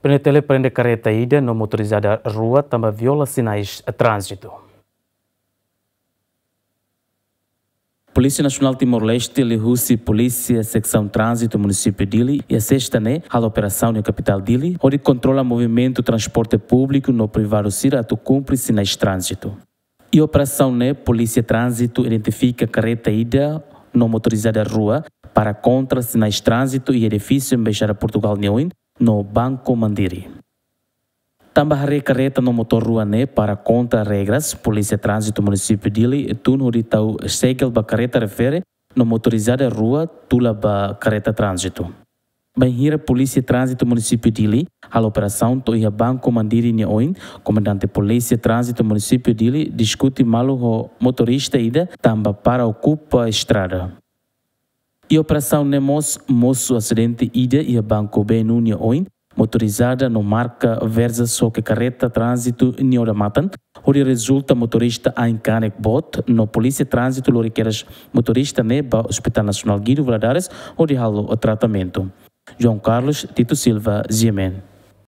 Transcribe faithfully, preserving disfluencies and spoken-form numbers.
PNTL prende kareta ida no motorizada rua tanba viola sinais tránzitu. Polísia Nasionál Timor-Leste liuhusi Polísia Seksaun Tránzitu Munisípiu Dili iha sesta ne'e halo operasaun iha kapitál Dili, hodi kontrola movimentu transporte públiku no privadu sira atu kumpre sinais tránzitu. Iha operasaun ne'e, Polísia Tránzitu identifika kareta ida no motorizada rua para kontra sinais tránzitu iha edifísiu Embaixada Portugal nia oin no Banco Mandiri. Tanba haree kareta no motór rua ne'e para kontra regras, Polísia Tránzitu Munisípiu Dili tun hodi tau segel ba kareta refere no motorizada rua tula ba kareta tránzitu. Bainhira Polísia Tránzitu Munisípiu Dili halo operasaun to'o iha Banco Mandiri nia oin, Komandante Polísia Tránzitu Munisípiu Dili diskute malu ho motorista ida tanba para okupa estrada. Iha operasaun ne'e mós mosu asidente ida iha Banco B N U nia oin, motorizada no marka Versa xoke kareta tránzitu nia odamatan, hodi rezulta motorista ain kanek boot, no Polísia Tránzitu lori kedas motorista ne'e ba Hospital Nasionál Guido Valadares hodi halo tratamentu. João Carlos Tito Silva, G M N.